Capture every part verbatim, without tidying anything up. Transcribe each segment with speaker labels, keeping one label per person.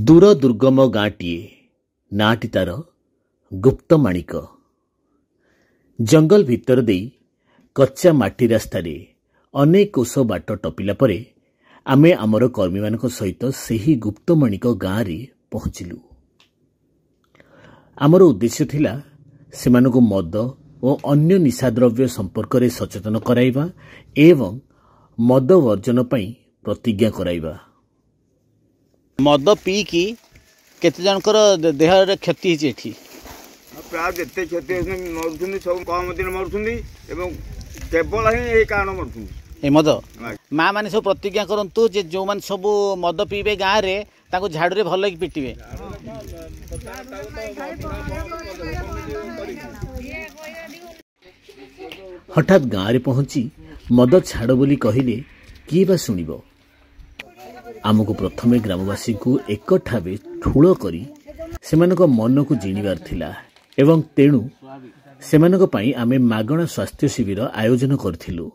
Speaker 1: ଦୂର ଦୁର୍ଗମ ଗାଁଟିଏ, ନାଁଟି ତାର ଗୁପ୍ତମାଣିକ। ଜଙ୍ଗଲ ଭିତର ଦେଇ କଚ୍ଚା ମାଟି ରାସ୍ତାରେ ଅନେକ କୋଶ ବାଟ ଟପିଲା ପରେ ଆମେ ଆମର କର୍ମୀମାନଙ୍କ ସହିତ ସେହି ଗୁପ୍ତମାଣିକ ଗାଁରେ ପହଞ୍ଚିଲୁ। ଆମର ଉଦ୍ଦେଶ୍ୟ ଥିଲା ସେମାନଙ୍କୁ ମଦ ଓ ଅନ୍ୟ ନିଶାଦ୍ରବ୍ୟ ସମ୍ପର୍କରେ ସଚେତନ କରାଇବା ଏବଂ ମଦ ବର୍ଜନ ପାଇଁ ପ୍ରତିଜ୍ଞା କରାଇବା।
Speaker 2: ମଦ ପିଇକି କେତେ ଜଣଙ୍କର ଦେହରେ କ୍ଷତି ହେଇଛି ଏଠି?
Speaker 3: ପ୍ରାୟ ଯେତେ କ୍ଷତି ହେଉଛନ୍ତି, ମରୁଛନ୍ତି, ସବୁ କମ ଦିନ ମରୁଛନ୍ତି ଏବଂ କେବଳ ହିଁ ଏଇ କାରଣ ମରୁଛନ୍ତି
Speaker 2: ଏ ମଦ। ମା ମାନେ ସବୁ ପ୍ରତିଜ୍ଞା କରନ୍ତୁ ଯେ ଯେଉଁମାନେ ସବୁ ମଦ ପିଇବେ ଗାଁରେ, ତାଙ୍କୁ ଝାଡ଼ୁରେ ଭଲକି ପିଟିବେ।
Speaker 1: ହଠାତ୍ ଗାଁରେ ପହଞ୍ଚି ମଦ ଛାଡ଼ ବୋଲି କହିଲେ କିଏ ବା ଶୁଣିବ? ଆମକୁ ପ୍ରଥମେ ଗ୍ରାମବାସୀଙ୍କୁ ଏକଠାବେ ଠୁଳ କରି ସେମାନଙ୍କ ମନକୁ ଜିଣିବାର ଥିଲା ଏବଂ ତେଣୁ ସେମାନଙ୍କ ପାଇଁ ଆମେ ମାଗଣା ସ୍ୱାସ୍ଥ୍ୟ ଶିବିର ଆୟୋଜନ କରିଥିଲୁ।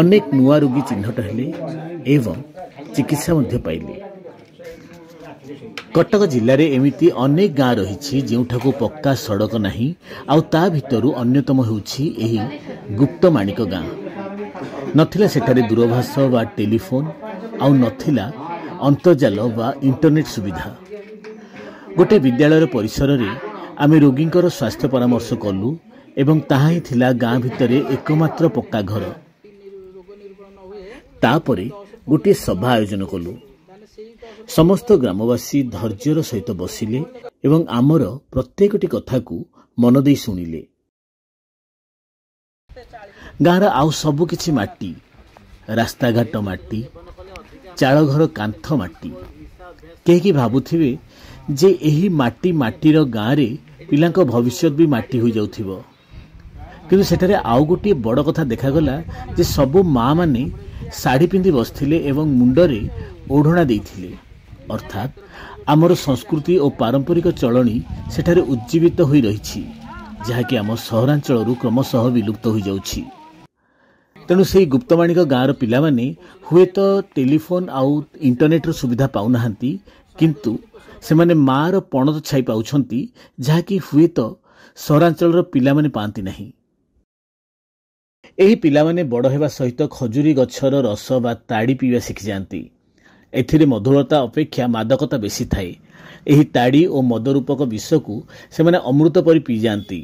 Speaker 1: ଅନେକ ନୂଆ ରୋଗୀ ଚିହ୍ନଟ ହେଲେ ଏବଂ ଚିକିତ୍ସା ମଧ୍ୟ ପାଇଲେ। କଟକ ଜିଲ୍ଲାରେ ଏମିତି ଅନେକ ଗାଁ ରହିଛି ଯେଉଁଠାକୁ ପକ୍କା ସଡ଼କ ନାହିଁ, ଆଉ ତା ଭିତରୁ ଅନ୍ୟତମ ହେଉଛି ଏହି ଗୁପ୍ତମାଣିକ ଗାଁ। ନଥିଲା ସେଠାରେ ଦୂରଭାଷ ବା ଟେଲିଫୋନ୍, ଆଉ ନଥିଲା ଅନ୍ତର୍ଜାଲ ବା ଇଣ୍ଟରନେଟ୍ ସୁବିଧା। ଗୋଟିଏ ବିଦ୍ୟାଳୟର ପରିସରରେ ଆମେ ରୋଗୀଙ୍କର ସ୍ୱାସ୍ଥ୍ୟ ପରାମର୍ଶ କଲୁ ଏବଂ ତାହା ହିଁ ଥିଲା ଗାଁ ଭିତରେ ଏକମାତ୍ର ପକ୍କା ଘର। ତାପରେ ଗୋଟିଏ ସଭା ଆୟୋଜନ କଲୁ। ସମସ୍ତ ଗ୍ରାମବାସୀ ଧୈର୍ଯ୍ୟର ସହିତ ବସିଲେ ଏବଂ ଆମର ପ୍ରତ୍ୟେକଟି କଥାକୁ ମନ ଦେଇ ଶୁଣିଲେ। ଗାଁର ଆଉ ସବୁ କିଛି ମାଟି, ରାସ୍ତାଘାଟ ମାଟି, ଚାଳଘର କାନ୍ଥ ମାଟି। କେହି କି ଭାବୁଥିବେ ଯେ ଏହି ମାଟି ମାଟିର ଗାଁରେ ପିଲାଙ୍କ ଭବିଷ୍ୟତ ବି ମାଟି ହୋଇଯାଉଥିବ। କିନ୍ତୁ ସେଠାରେ ଆଉ ଗୋଟିଏ ବଡ଼ କଥା ଦେଖାଗଲା ଯେ ସବୁ ମାଆମାନେ ଶାଢ଼ୀ ପିନ୍ଧି ବସିଥିଲେ ଏବଂ ମୁଣ୍ଡରେ ଓଢ଼ଣା ଦେଇଥିଲେ। ଅର୍ଥାତ୍ ଆମର ସଂସ୍କୃତି ଓ ପାରମ୍ପରିକ ଚଳଣି ସେଠାରେ ଉଜ୍ଜୀବିତ ହୋଇ ରହିଛି, ଯାହାକି ଆମ ସହରାଞ୍ଚଳରୁ କ୍ରମଶଃ ବିଲୁପ୍ତ ହୋଇଯାଉଛି। ତେଣୁ ସେହି ଗୁପ୍ତମାଣିକ ଗାଁର ପିଲାମାନେ ହୁଏତ ଟେଲିଫୋନ୍ ଆଉ ଇଣ୍ଟରନେଟ୍ର ସୁବିଧା ପାଉନାହାନ୍ତି, କିନ୍ତୁ ସେମାନେ ମାଆର ପଣତ ଛାଇ ପାଉଛନ୍ତି, ଯାହାକି ହୁଏତ ସହରାଞ୍ଚଳର ପିଲାମାନେ ପାଆନ୍ତି ନାହିଁ। ଏହି ପିଲାମାନେ ବଡ଼ ହେବା ସହିତ ଖଜୁରୀ ଗଛର ରସ ବା ତାଡ଼ି ପିଇବା ଶିଖିଯାଆନ୍ତି। ଏଥିରେ ମଧୁରତା ଅପେକ୍ଷା ମାଦକତା ବେଶୀ ଥାଏ। ଏହି ତାଡ଼ି ଓ ମଦ ରୂପକ ବିଷକୁ ସେମାନେ ଅମୃତ ପରି ପିଇଯାଆନ୍ତି।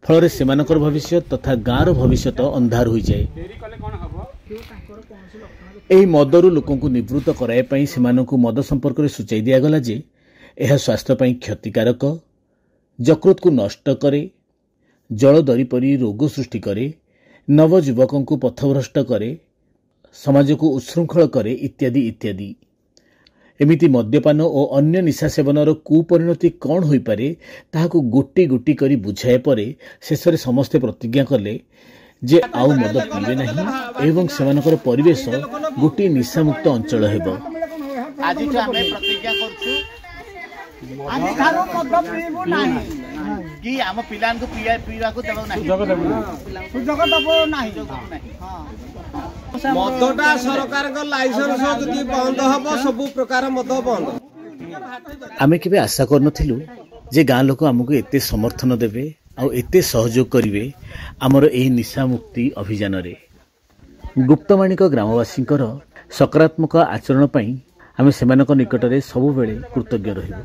Speaker 1: ଫଳରେ ସେମାନଙ୍କର ଭବିଷ୍ୟତ ତଥା ଗାଁର ଭବିଷ୍ୟତ ଅନ୍ଧାର ହୋଇଯାଏ। ଏହି ମଦରୁ ଲୋକଙ୍କୁ ନିବୃତ୍ତ କରାଇବା ପାଇଁ ସେମାନଙ୍କୁ ମଦ ସମ୍ପର୍କରେ ସୂଚାଇ ଦିଆଗଲା ଯେ ଏହା ସ୍ୱାସ୍ଥ୍ୟ ପାଇଁ କ୍ଷତିକାରକ, ଯକୃତକୁ ନଷ୍ଟ କରେ, ଜଳଦରି ପରି ରୋଗ ସୃଷ୍ଟି କରେ, ନବଯୁବକଙ୍କୁ ପଥଭ୍ରଷ୍ଟ କରେ, ସମାଜକୁ ଉଚ୍ଛୃଙ୍ଖଳ କରେ, ଇତ୍ୟାଦି ଇତ୍ୟାଦି। ଏମିତି ମଦ୍ୟପାନ ଓ ଅନ୍ୟ ନିଶା ସେବନର କୁପରିଣତି କ'ଣ ହୋଇପାରେ ତାହାକୁ ଗୋଟି ଗୋଟି କରି ବୁଝାଇବା ପରେ ଶେଷରେ ସମସ୍ତେ ପ୍ରତିଜ୍ଞା କଲେ ଯେ ଆଉ ମଦ ପିଇବେ ନାହିଁ ଏବଂ ସେମାନଙ୍କର ପରିବେଶ ଗୋଟିଏ ନିଶାମୁକ୍ତ ଅଞ୍ଚଳ ହେବ।
Speaker 2: ଆଜିଠୁ ଆମେ ପ୍ରତିଜ୍ଞା କରୁଛୁ
Speaker 4: ଆଜିଠାରୁ ମଦ ପିଇବୁ ନାହିଁ
Speaker 2: କି ଆମ ପିଲାଙ୍କୁ ପିଇବାକୁ ଦେବୁ ନାହିଁ,
Speaker 4: ସୁଯୋଗ ଦେବୁ ନାହିଁ।
Speaker 5: ମଦଟା ସରକାରଙ୍କ ଲାଇସେନ୍ସ ଯଦି ବନ୍ଦ ହବ, ସବୁ ପ୍ରକାର ମଦ ବନ୍ଦ।
Speaker 1: ଆମେ କେବେ ଆଶା କରିନଥିଲୁ ଯେ ଗାଁ ଲୋକ ଆମକୁ ଏତେ ସମର୍ଥନ ଦେବେ ଆଉ ଏତେ ସହଯୋଗ କରିବେ ଆମର ଏହି ନିଶାମୁକ୍ତି ଅଭିଯାନରେ। ଗୁପ୍ତମାଣିକ ଗ୍ରାମବାସୀଙ୍କର ସକାରାତ୍ମକ ଆଚରଣ ପାଇଁ ଆମେ ସେମାନଙ୍କ ନିକଟରେ ସବୁବେଳେ କୃତଜ୍ଞ ରହିବୁ।